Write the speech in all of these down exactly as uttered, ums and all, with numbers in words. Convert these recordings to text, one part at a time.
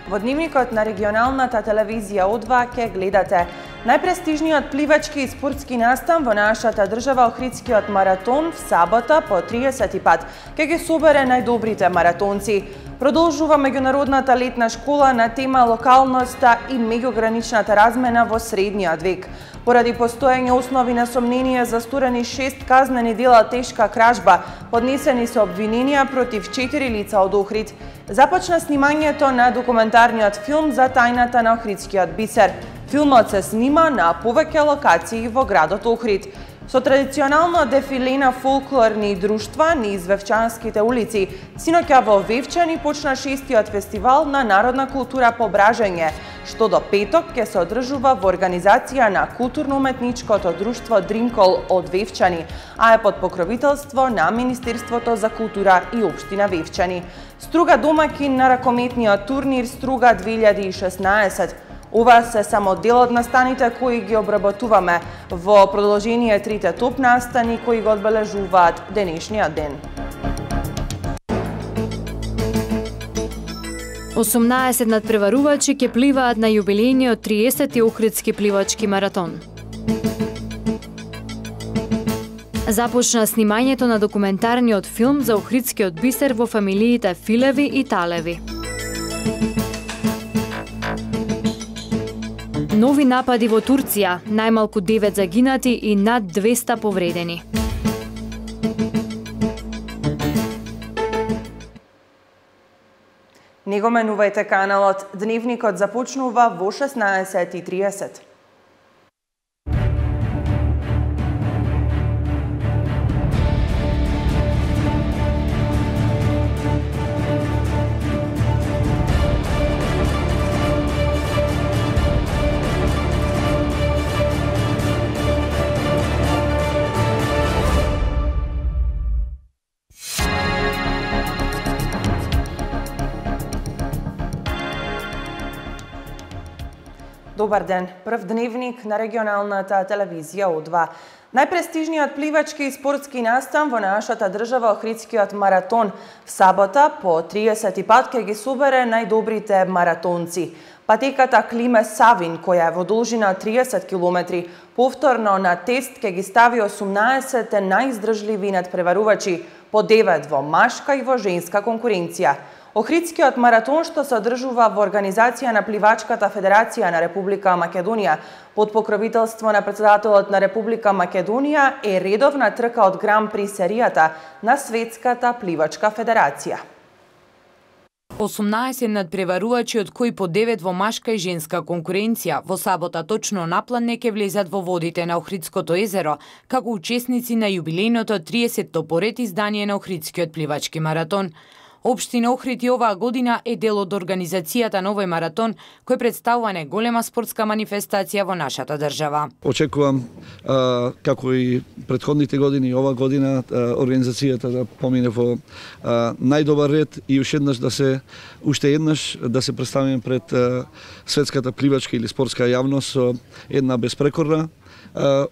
Во дневникот на регионалната телевизија О два ќе гледате најпрестижниот пливачки и спортски настан во нашата држава, Охридскиот маратон, в сабота по триесети пат ќе ги собере најдобрите маратонци. Продолжува меѓународната летна школа на тема локалноста и меѓуграничната размена во средниот век. Поради постоење основи на сомнение за сторени шест казнени дела тешка кражба, поднесени се обвиненија против четири лица од Охрид. Започна снимањето на документарниот филм за тајната на Охридскиот бисер. Филмот се снима на повеќе локации во градот Охрид. Со традиционално дефиле на фолклорни друштва низ Вевчанските улици, синоќа во Вевчани почна шестиот фестивал на народна култура по бражање, што до петок ќе се одржува во организација на културно-уметничкото друштво Дримкол од Вевчани, а е под покровителство на Министерството за култура и општина Вевчани. Струга домаќин на ракометниот турнир Струга две илјади и шеснаесет. Ова се само дел од настаните кои ги обработуваме во продолжение трите топ настани кои го одбележуваат денешниот ден. осумнаесет надпреварувачи ќе пливаат на јубилејниот триесети Охридски пливачки маратон. Започна снимањето на документарниот филм за Охридскиот бисер во фамилиите Филеви и Талеви. Нови напади во Турција, најмалку девет загинати и над двеста повредени. Не го менувајте каналот, дневникот започнува во шеснаесет и триесет. Добар ден, прв дневник на регионалната телевизија О два. Најпрестижниот пливачки и спортски настан во нашата држава, Охридскиот маратон, в сабота по триесети пат ќе ги собере најдобрите маратонци. Патеката Климе Савин, која е во должина триесет километри, повторно на тест ќе ги стави осумнаесет најиздржливи надпреварувачи, по девет во машка и во женска конкуренција. Охридскиот маратон, што се одржува во организација на Пливачката федерација на Република Македонија, под покровителство на председателот на Република Македонија, е редовна трка од Гран При серијата на Светската пливачка федерација. осумнаесет надпреварувачи, од кои по девет во машка и женска конкуренција, во сабота точно на план ќе влезат во водите на Охридското езеро, како учесници на јубилејното триесетто поред издание на Охридскиот пливачки маратон. Општина Охрид и оваа година е дел од организацијата на овој маратон, кој представува неголема спортска манифестација во нашата држава. Очекувам, а, како и претходните години, ова година а, организацијата да помине во а, најдобар ред и уште еднаш да се уште еднаш да се представиме пред а, светската пливачка или спортска јавност со една безпрекорна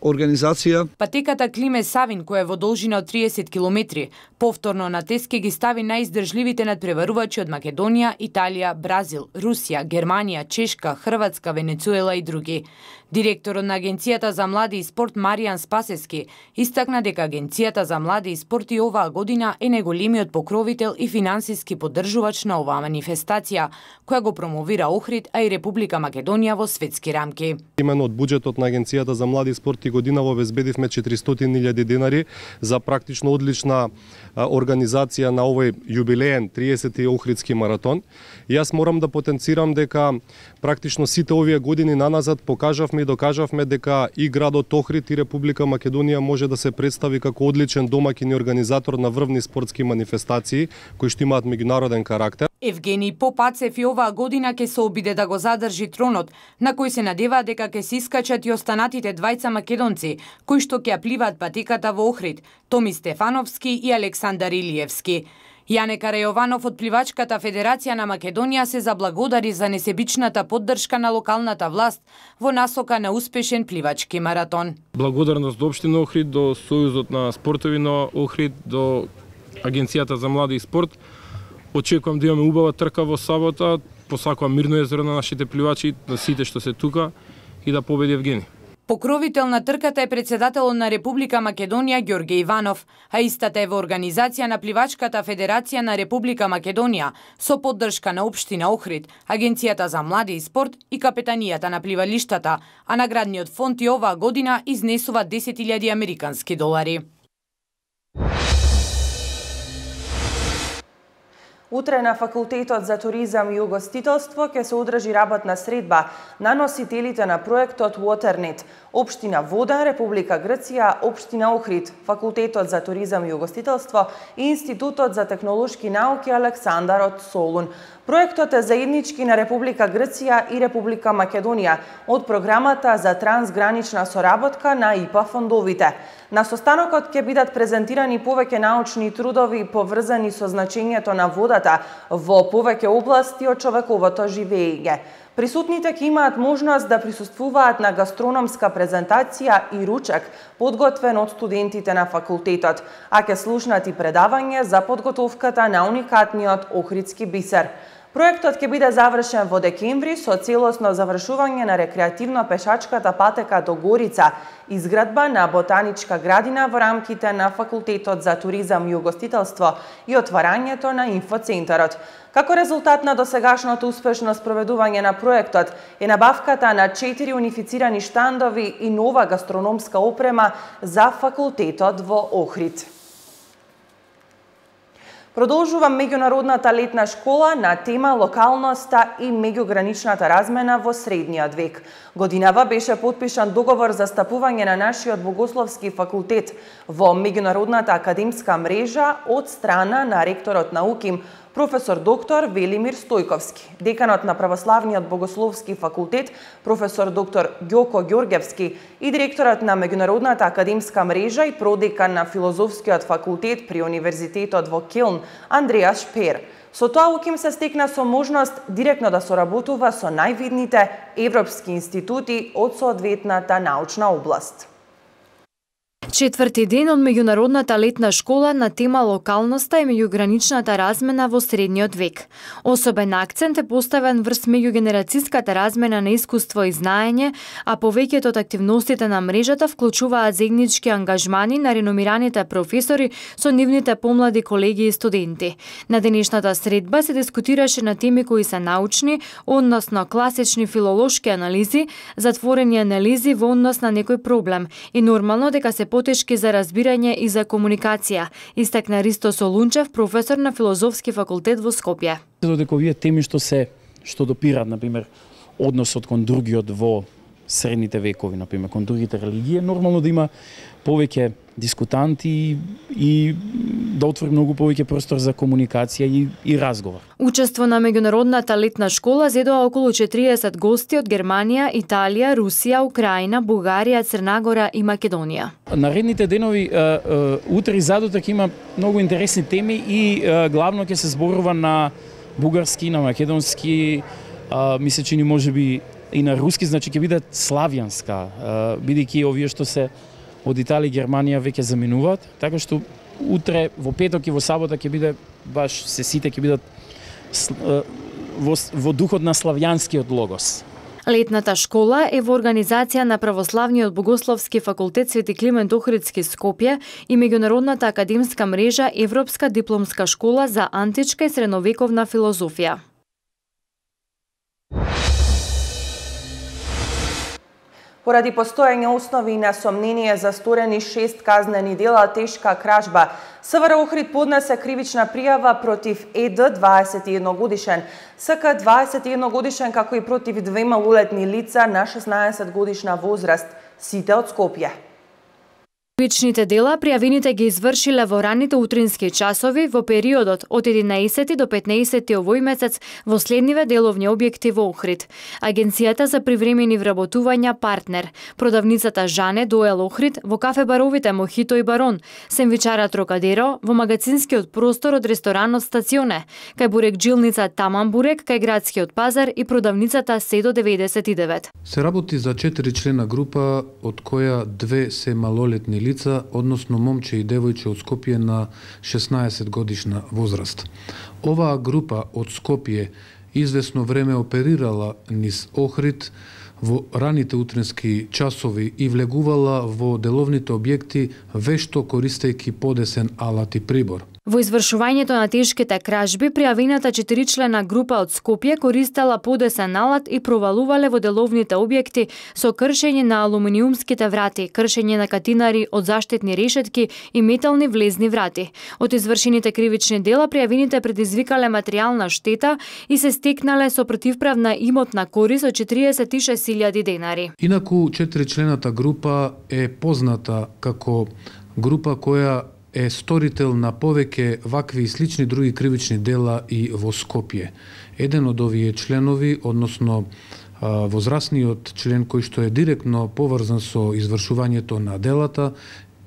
организација. Патеката Климе Савин, која е во должина од триесет километри, повторно на тест ќе ги стави најиздржливите надпреварувачи од Македонија, Италија, Бразил, Русија, Германија, Чешка, Хрватска, Венецуела и други. Директорот на Агенцијата за млади и спорт Маријан Спасески истакна дека Агенцијата за млади и спорт и оваа година е најголемиот покровител и финансиски поддржувач на оваа манифестација, која го промовира Охрид, а и Република Македонија во светски рамки. Имено од буџетот на Агенцијата за млади и спорт и годинава обезбедивме четиристотини илјади денари за практично одлична организација на овој јубилеен триесети Охридски маратон. И јас морам да потенцирам дека практично сите овие години наназад покажавме и докажавме дека и градот Охрид и Република Македонија може да се представи како одличен домаќин и организатор на врвни спортски манифестации кои што имаат меѓународен карактер. Евгений Попацев и оваа година ќе се обиде да го задржи тронот, на кој се надева дека ќе се искачат и останатите двајца македонци, кои што ќе пливаат патеката во Охрид, Томи Стефановски и Александар Илиевски. Јане Карајованов од Пливачката федерација на Македонија се заблагодари за несебичната поддршка на локалната власт во насока на успешен пливачки маратон. Благодарност до општина Охрид, до Сојузот на спортови на Охрид, до Агенцијата за млади и спорт. Очекувам да имаме убава трка во сабота. посакува мирно езеро на нашите пливачи, на сите што се тука и да победи Евгени. Покровител на трката е председателот на Република Македонија Ѓорѓе Иванов, а истата е во организација на Пливачката федерација на Република Македонија со поддршка на општина Охрид, Агенцијата за млади и спорт и капетанијата на пливалиштата, а наградниот фонд и оваа година изнесува десет илјади американски долари. Утре на Факултетот за туризам и угостителство ќе се одржи работна средба на носителите на проектот Waternet, Општина Вода, Република Грција, Општина Охрид, Факултетот за туризам и угостителство и Институтот за технолошки науки Александар од Солун. Проектот е заеднички на Република Грција и Република Македонија од програмата за трансгранична соработка на И П А фондовите. На состанокот ќе бидат презентирани повеќе научни трудови поврзани со значењето на водата во повеќе области од човековото живење. Присутните ќе имаат можност да присуствуваат на гастрономска презентација и ручек подготвен од студентите на факултетот, а ќе слушнат и предавање за подготовката на уникатниот Охридски бисер. Проектот ќе биде завршен во декември со целосно завршување на рекреативно-пешачката патека до Горица, изградба на ботаничка градина во рамките на Факултетот за туризам и угостителство и отварањето на инфоцентарот. Како резултат на досегашното успешно спроведување на проектот е набавката на четири унифицирани штандови и нова гастрономска опрема за факултетот во Охрид. Продолжува меѓународната летна школа на тема локалноста и меѓуграничната размена во средниот век. Годинава беше потпишан договор за стапување на нашиот Богословски факултет во меѓународната академска мрежа од страна на ректорот на УКИМ, професор доктор Велимир Стојковски, деканот на Православниот Богословски факултет, професор доктор Ѓоко Ѓорѓевски и директорот на меѓународната академска мрежа и продекан на Филозофскиот факултет при Универзитетот во Келн, Андреас Шпер. Со тоа УКИМ се стекна со можност директно да соработува со највидните европски институти од соодветната научна област. Четврти ден од меѓународната летна школа на тема локалноста и меѓуграничната размена во средниот век. Особен акцент е поставен врз меѓугенерацијската размена на искуство и знаење, а повеќето од активностите на мрежата вклучуваат заеднички ангажмани на реномираните професори со нивните помлади колеги и студенти. На денешната средба се дискутираше на теми кои се научни, односно класични филолошки анализи, затворени анализи во однос на некој проблем и нормално дека се потешки за разбирање и за комуникација, истакна Ристо Солунчев, професор на Филозофски факултет во Скопје. Додека овие теми што се што допираат, например, односот кон другиот во средните векови, например, кон другите религии, нормално да има повеќе дискутанти и да отвори многу повеќе простор за комуникација и, и разговор. Учество на меѓународната летна школа зедоа околу четириесет гости од Германија, Италија, Русија, Украина, Бугарија, Црна Гора и Македонија. Наредните денови утре и задутак има многу интересни теми и главно ќе се зборува на бугарски, на македонски, ми се чини можеби и на руски, значи ќе биде славјанска, бидејќи овие што се од Италија и Германија веќе заменуваат, така што утре во петок и во сабота ќе биде баш се сите ќе бидат во, во духот на славјанскиот логос. Летната школа е во организација на Православниот Богословски факултет Свети Климент Охридски Скопје и меѓународната академска мрежа Европска дипломска школа за античка и средновековна филозофија. Поради постоење основи на сомнение за сторени шест казнени дела тешка кражба, СВР Охрид поднесе кривична пријава против ЕД дваесет и едно годишен, СК дваесет и едно годишен, како и против две малолетни лица на шеснаесет годишна возраст, сите од Скопје. Кривичните дела пријавените ги извршиле во раните утрински часови во периодот од единаесети до петнаесети овој месец во следниве деловни објекти во Охрид. Агенцијата за привремени вработувања Партнер, продавницата Жане Доел Охрид, во кафе баровите Мохито и Барон, сендвичарот Трокадеро, во магазинскиот простор од ресторанот Стационе, кај бурек-джилница Таман Бурек, кај градскиот пазар и продавницата Седо деветдесет и девет. Се работи за четири члена група, од која две се малолетни лица, односно момче и девојче од Скопје на шеснаесет годишна возраст. Оваа група од Скопје извесно време оперирала низ Охрид во раните утрински часови и влегувала во деловните објекти вешто користејќи подесен алат и прибор. Во извршувањето на тешките кражби, пријавената четиричлена група од Скопје користела подесен алат и провалувале во деловните објекти со кршење на алуминиумските врати, кршење на катинари од заштитни решетки и метални влезни врати. Од извршените кривични дела, пријавените предизвикале материјална штета и се стекнале со противправна имотна корис од четириесет и шест илјади денари. Инаку, четиричлената група е позната како група која е сторител на повеќе вакви и слични други кривични дела и во Скопје. Еден од овие членови, односно возрастниот член кој што е директно поврзан со извршувањето на делата,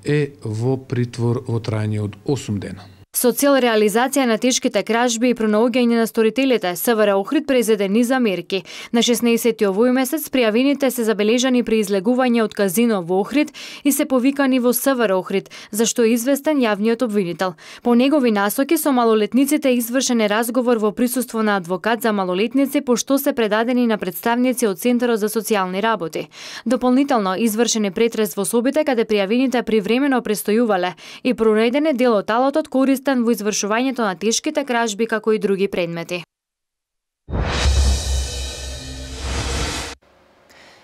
е во притвор во трајање од осум дена. Со цел реализација на тешките кражби и пронаоѓање на сторителите, СВР Охрид презеде низ мерки. На шеснаесети овој месец пријавените се забележани при излегување од казино во Охрид и се повикани во СВР Охрид, за што е известен јавниот обвинител. По негови насоки со малолетниците извршен е разговор во присуство на адвокат за малолетници, пошто се предадени на представници од Центарот за социјални работи. Дополнително извршен е претрес во собите каде пријавените привремено престојувале и прореден е дел од алатот користен во извршувањето на тешките кражби како и други предмети.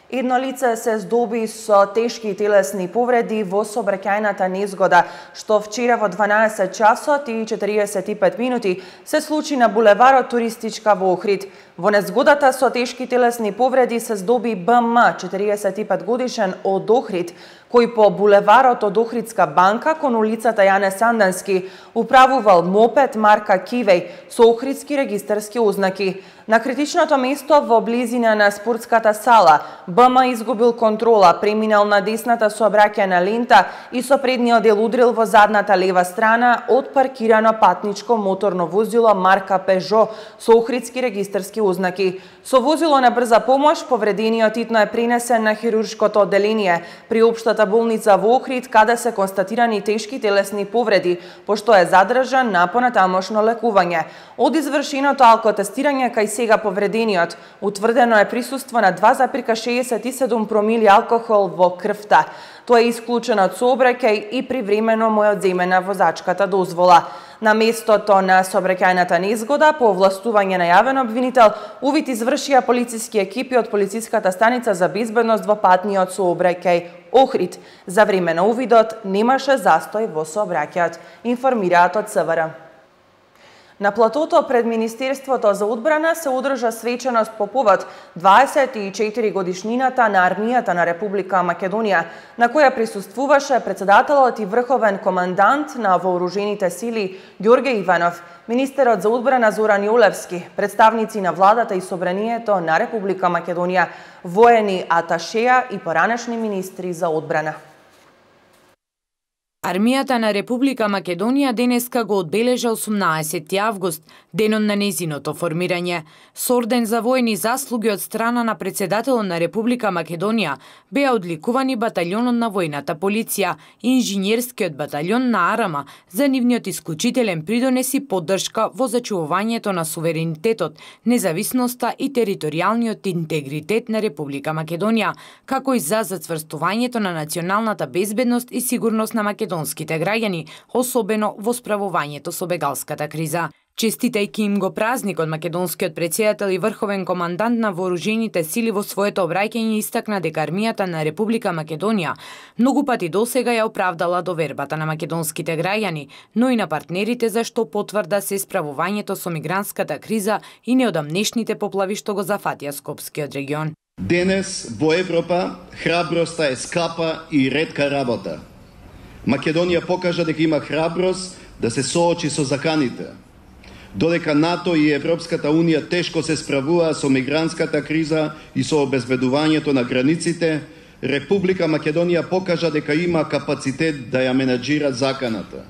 Едно лице се здоби со тешки телесни повреди во сообраќајната незгода, што вчера во дванаесет часот и четириесет и пет минути се случи на булеварот Туристичка во Охрид. Во незгодата со тешки телесни повреди се здоби Б М, четириесет и пет годишен од Охрид, кој по булеварот од Охридска банка кон улицата Јане Сандански управувал мопед марка Кивеј со охридски регистарски ознаки. На критичното место во близина на спортската сала Б М изгубил контрола, преминал на десната сообраќајна лента и со предниот дел удрил во задната лева страна од паркирано патничко моторно возило марка Пежо со охридски регистарски ознаки. Со возило на брза помош повредениот итно е пренесен на хируршкото одделение при општата болница во Охрид, каде се констатирани тешки телесни повреди, пошто е задржан на понатамошно лекување. Од извршеното алкотестирање кај сега повредениот, утврдено е присуство на два зарез шеесет и седум промили алкохол во крвта. Тоа е исклучено од сообраќај и привремено му е одземена возачката дозвола. На местото на сообраќајната незгода, по овластување на јавен обвинител, увид извршија полициски екипи од полициската станица за безбедност во патниот сообраќај Охрид. За време на увидот немаше застој во сообраќајот, информираат од СВР. На платото пред Министерството за одбрана се одржа свеченост по повод дваесет и четири годишнината на армијата на Република Македонија, на која присуствуваше председателот и врховен командант на вооружените сили Ѓорѓе Иванов, министерот за одбрана Зоран Јолевски, представници на владата и собранието на Република Македонија, воени аташеа и поранешни министри за одбрана. Армијата на Република Македонија денеска го одбележа осумнаесети август, денот на незиното формирање. Со орден за воени заслуги од страна на председателот на Република Македонија беа одликувани баталјонот на војната полиција и инженерскиот баталјон на Арама за нивниот исклучителен придонес и поддршка во зачувувањето на суверенитетот, независноста и територијалниот интегритет на Република Македонија, како и за зацврстувањето на националната безбедност и сигурност на Македонија македонските граѓани, особено во справувањето со бегалската криза. Честитајќи им го празникот, македонскиот претседател и врховен командант на вооружените сили во своето обраќање истакна дека армијата на Република Македонија многу пати досега ја оправдала довербата на македонските граѓани, но и на партнерите, за што потврда се справувањето со мигрантската криза и неодамнешните поплави што го зафатија Скопскиот регион. Денес во Европа храброста е скапа и ретка работа. Македонија покажа дека има храброст да се соочи со заканите. Додека НАТО и Европската Унија тешко се справуваа со мигрантската криза и со обезбедувањето на границите, Република Македонија покажа дека има капацитет да ја менаџира заканата.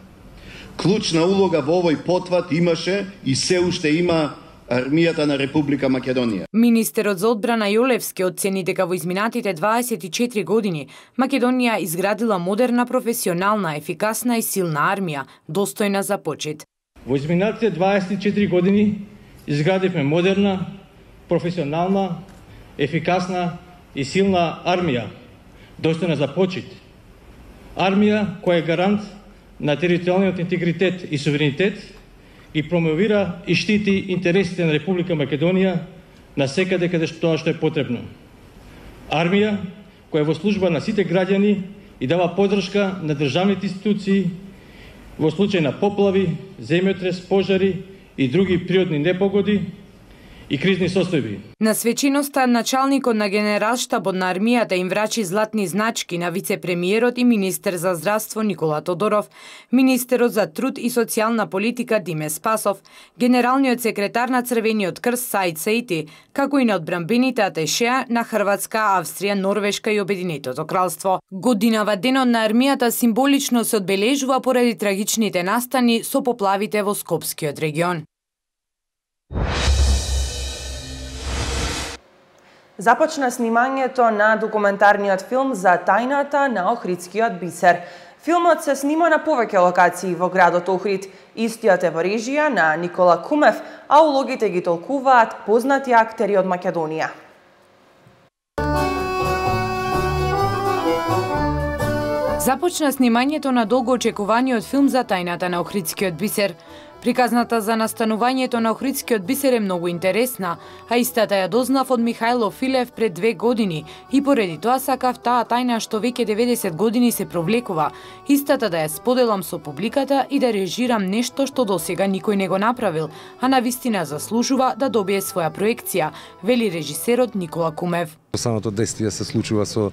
Клучна улога во овој потват имаше и се уште има армијата на Република Македонија. Министерот за одбрана Јолевски оцени дека во изминатите дваесет и четири години Македонија изградила модерна, професионална, ефикасна и силна армија, достојна за почит. Во изминатите дваесет и четири години изградивме модерна, професионална, ефикасна и силна армија, достојна за почит. Армија која е гарант на територијалниот интегритет и суверенитет и промовира и штити интересите на Република Македонија на секаде каде што тоа што е потребно. Армија која е во служба на сите граѓани и дава поддршка на државните институции во случај на поплави, земјотрес, пожари и други природни непогоди и кризни состојби. На свеченоста началникот на Генералштабот на армијата им врачи златни значки на вице-премиерот и министер за здравство Никола Тодоров, министерот за труд и социјална политика Диме Спасов, генералниот секретар на Црвениот крст Саид Саити, како и на одбранбените атешеа на Хрватска, Австрија, Норвешка и Обединетото кралство. Годинава денот на армијата символично се одбележува поради трагичните настани со поплавите во Скопскиот регион. Започна снимањето на документарниот филм за тајната на Охридскиот бисер. Филмот се снима на повеќе локации во градот Охрид. Истиот е во режија на Никола Кумев, а улогите ги толкуваат познати актери од Македонија. Започна снимањето на долго очекуваниот филм за тајната на Охридскиот бисер. Приказната за настанувањето на Охридскиот бисер е многу интересна, а истата ја дознав од Михајло Филев пред две години и поради тоа сакав таа тајна што веќе деветдесет години се провлекува, истата да ја споделам со публиката и да режирам нешто што досега никој не го направил, а навистина заслужува да добие своја проекција, вели режисерот Никола Кумев. Самото действие се случува со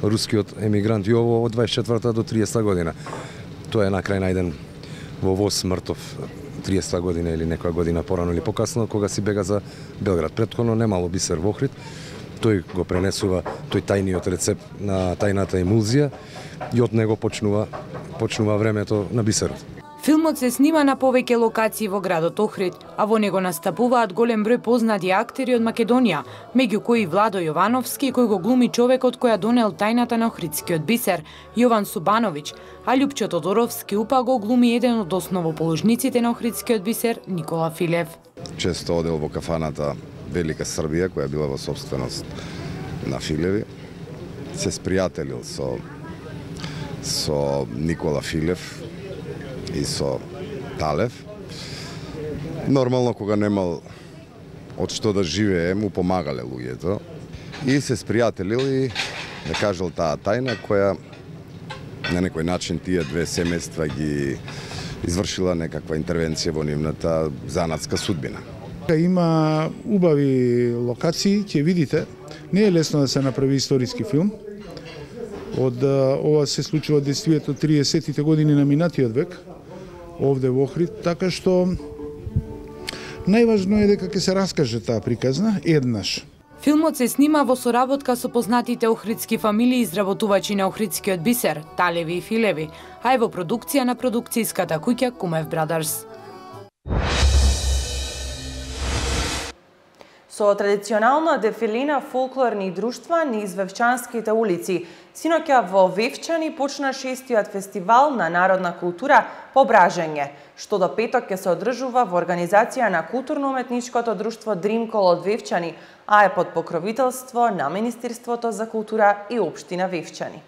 рускиот емигрант Јово од дваесет и четврта до триесета година. Тоа е на крај најден во воз мртов триесета година или некоја година порано или покасно, кога си бега за Белград. Претходно немало бисер во Охрид, тој го пренесува тој тајниот рецепт на тајната емулзија и од него почнува почнува времето на бисерот. Филмот се снима на повеќе локации во градот Охрид, а во него настапуваат голем број познати актери од Македонија, меѓу кои Владо Јовановски, кој го глуми човекот која донел тајната на Охридскиот бисер, Јован Субановиќ, а Љупчо Тодоровски упа го глуми еден од основоположниците на Охридскиот бисер, Никола Филев. Често одел во кафаната Велика Србија, која била во собственост на Филеви. Се спријателил со со Никола Филев и со Талев. Нормално, кога немал од што да живее, му помагале луѓето. И се спријателил и да кажал таа тајна која на некој начин тие две семејства ги извршила некаква интервенција во нивната занатска судбина. Има убави локации, ќе видите. Не е лесно да се направи историски филм. Од ова се случува действието триесеттите години на минатиот век, овде во Охрид, така што најважно е дека ќе се раскаже таа приказна еднаш. Филмот се снима во соработка со познатите охридски фамилии изработувачи на Охридскиот бисер, Талеви и Филеви, а е во продукција на продукцијската куќа Кумев Брадърс. Со традиционална дефилина фолклорни друштва низ Вевчанските улици, синоќа во Вевчани почна шестиот фестивал на народна култура Пображање, што до петок ќе се одржува во организација на културно-уметничкото друштво Дримкол од Вевчани, а е под покровителство на Министерството за култура и Општина Вевчани.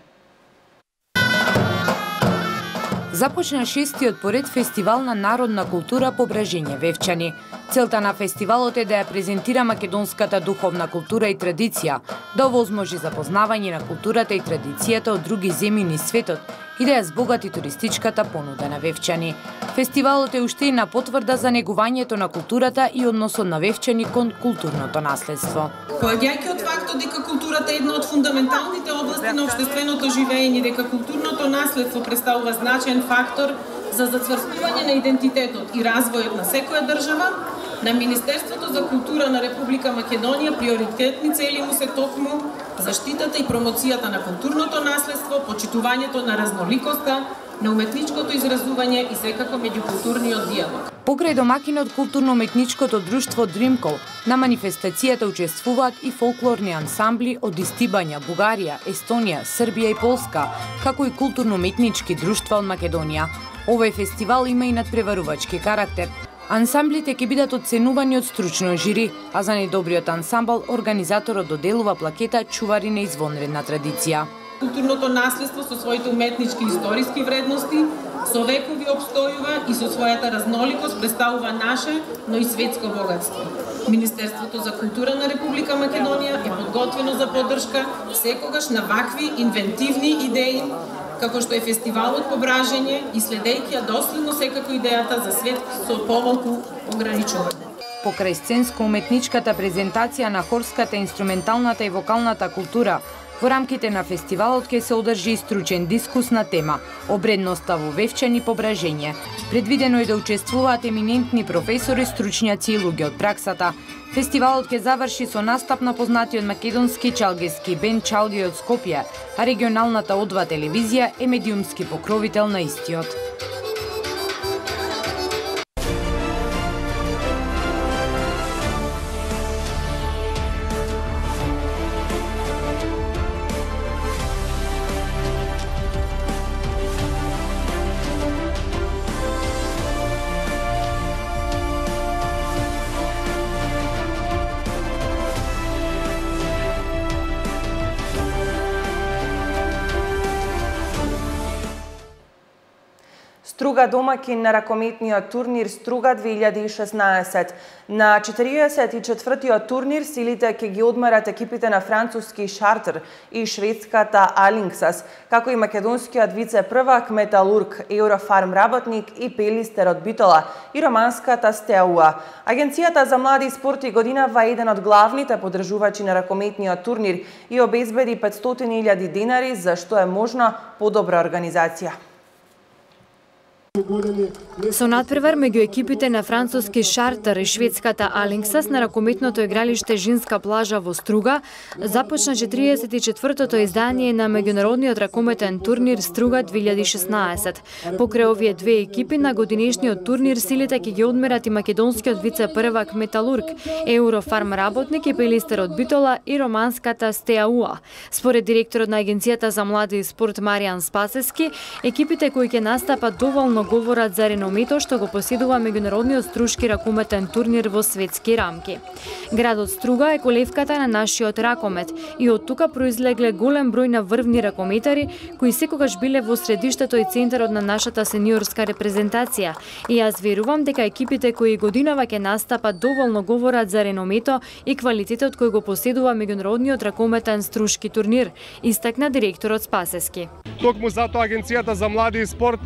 Започна шестиот поред фестивал на народна култура Пображање Вевчани. Целта на фестивалот е да ја презентира македонската духовна култура и традиција, да овозможи запознавање на културата и традицијата од други земји низ светот и да ја збогати туристичката понуда на Вевчани. Фестивалот е уште една потврда за негувањето на културата и односот на Вевчани кон културното наследство. Поаѓајќи од фактот дека културата е една од фундаменталните области на општественото живење, дека културното наследство представува значаен фактор за зацврстување на идентитетот и развојот на секоја држава, на Министерството за култура на Република Македонија приоритетни цели му се токму заштитата и промоцијата на културното наследство, почитувањето на разноликоста, на уметничкото изразување и секако меѓукултурниот диалог. Покрај домакинот културно-уметничкото друштво Дримкол, на манифестацијата учествуваат и фолклорни ансамбли од Истибања, Бугарија, Естонија, Србија и Полска, како и културно-уметнички друштва од Македонија. Овој фестивал има и надпреварувачки карактер. Ансамблите ќе бидат оценувани од стручно жири, а за најдобриот ансамбл организаторот доделува плакета чувари на извонредна традиција. Културното наследство со своите уметнички и историски вредности со векови обстојува и со својата разноликост представува наше, но и светско богатство. Министерството за култура на Република Македонија е подготвено за поддршка секогаш на вакви инвентивни идеи, како што е фестивалот по бражење и следејќи ја доследно секако идејата за свет со помалку ограничување. Покрај сценско-уметничката презентација на хорската, инструменталната и вокалната култура, во рамките на фестивалот ќе се одржи и стручен дискус на тема обредноста во вевчани по бражење. Предвидено е да учествуваат еминентни професори, стручњаци и луѓе од праксата. Фестивалот ќе заврши со настап на познатиот македонски чалгески бенд Чалги од Скопје, а регионалната О два телевизија е медиумски покровител на истиот. Струга домакин на ракометниот турнир Струга две илјади и шеснаесет. На четириесет и четвртиот турнир силите ќе ги одмерат екипите на француски Шартер и шведската Алингсас, како и македонскиот вице-првак Металург, Еврофарм работник и Пелистерот Битола и романската Стеауа. Агенцијата за млади спорт и годинава е еден од главните поддржувачи на ракометниот турнир и обезбеди петстотини илјади денари, за што е можна подобра организација. Со надпревар меѓу екипите на француски Шартер и шведската Алингсас на ракометното игралиште Женска плажа во Струга започна четириесет и четвртото издание на меѓународниот ракометен турнир Струга две илјади и шеснаесет. Покрај овие две екипи на годинешниот турнир силите ќе ги одмерат и македонскиот вице-првак Металург, Еврофарм работник и Пелистерот Битола и романската Стеауа. Според директорот на Агенцијата за млади и спорт Маријан Спасески, екипите кои ќе настапат доволно говорат за реномето што го поседува меѓународниот струшки ракометен турнир во светски рамки. Градот Струга е колевката на нашиот ракомет и од тука произлегле голем број на врвни ракометари кои секогаш биле во средиштето и центарот на нашата сениорска репрезентација. И јас верувам дека екипите кои годинава ќе настапат доволно говорат за реномето и квалитетот кој го поседува меѓународниот ракометен струшки турнир, истакна директорот Спасески. Токму затоа Агенцијата за млади и спорт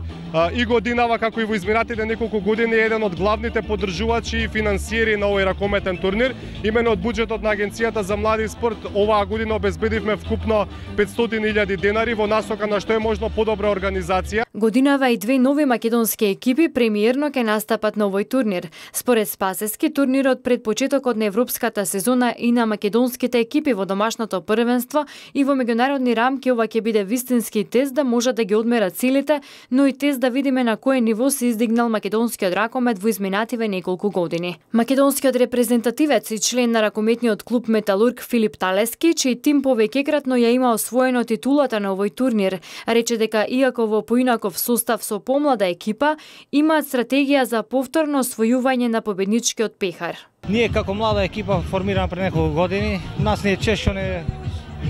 и годинава, како и во изминатите неколку години, е еден од главните поддржувачи и финансиери на овој ракометен турнир. Имено од буџетот на Агенцијата за млади и спорт оваа година обезбедивме вкупно петстотини илјади денари во насока на што е можно подобра организација. Годинава и две нови македонски екипи премиерно ќе настапат на овој турнир. Според Спасески, турнирот пред почетокот на европската сезона и на македонските екипи во домашното првенство и во меѓународни рамки ова ќе биде вистински тест да можат да ги одмерат силите, но и тест да видиме на кој ниво се издигнал македонскиот ракомет во изминативе неколку години. Македонскиот репрезентативец и член на ракометниот клуб Металург Филип Талески, чиј тим повеќекратно ја има освоено титулата на овој турнир, рече дека иако во поинаков состав со помлада екипа, имаат стратегија за повторно освојување на победничкиот пехар. Ние како млада екипа формирана пред неколку години, нас не е чест што не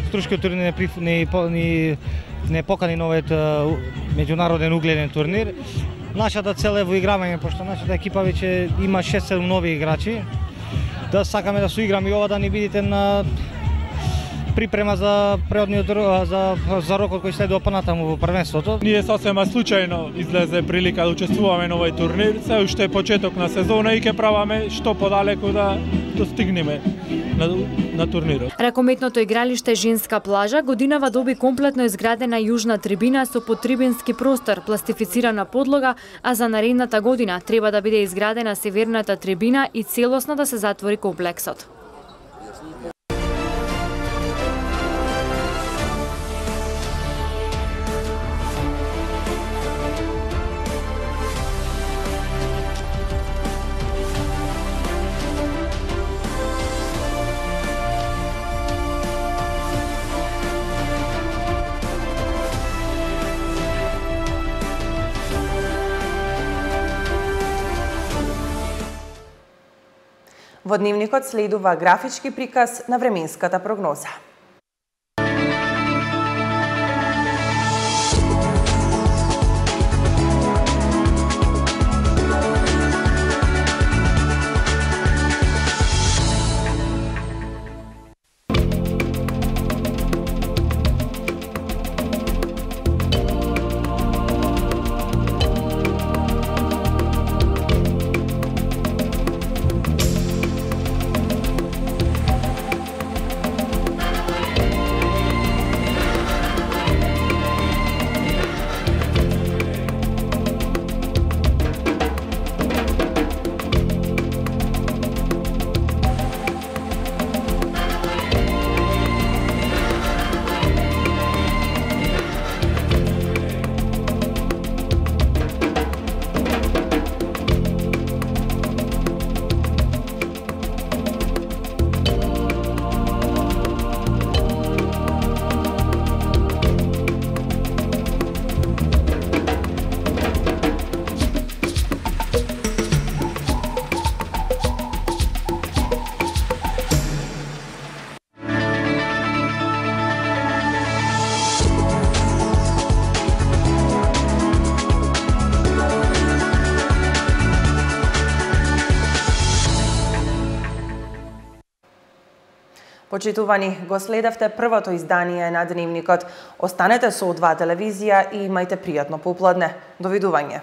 струшкиот турнир не, не, не, не покани на овој меѓународен угледен турнир. Нашата цел е во игравање, пошто нашата екипа веќе има шест-седум нови играчи. Да сакаме да соиграме и ова да ни бидите на припрема за преодниот за за рокот кој следува понатаму во првенството. Ние сосема случајно излезе прилика да учествуваме на овој турнир, се уште е почеток на сезона и ќе праваме што подалеку да достигнеме на, на турнирот. Ракометното игралиште Женска плажа годинава доби комплетно изградена јужна трибина со подтрибински простор, пластифицирана подлога, а за наредната година треба да биде изградена северната трибина и целосно да се затвори комплексот. Во дневникот следува графички приказ на временската прогноза. Почитувани, го следевте првото издание на Дневникот. Останете со О два телевизија и имајте пријатно попладне. Довидување.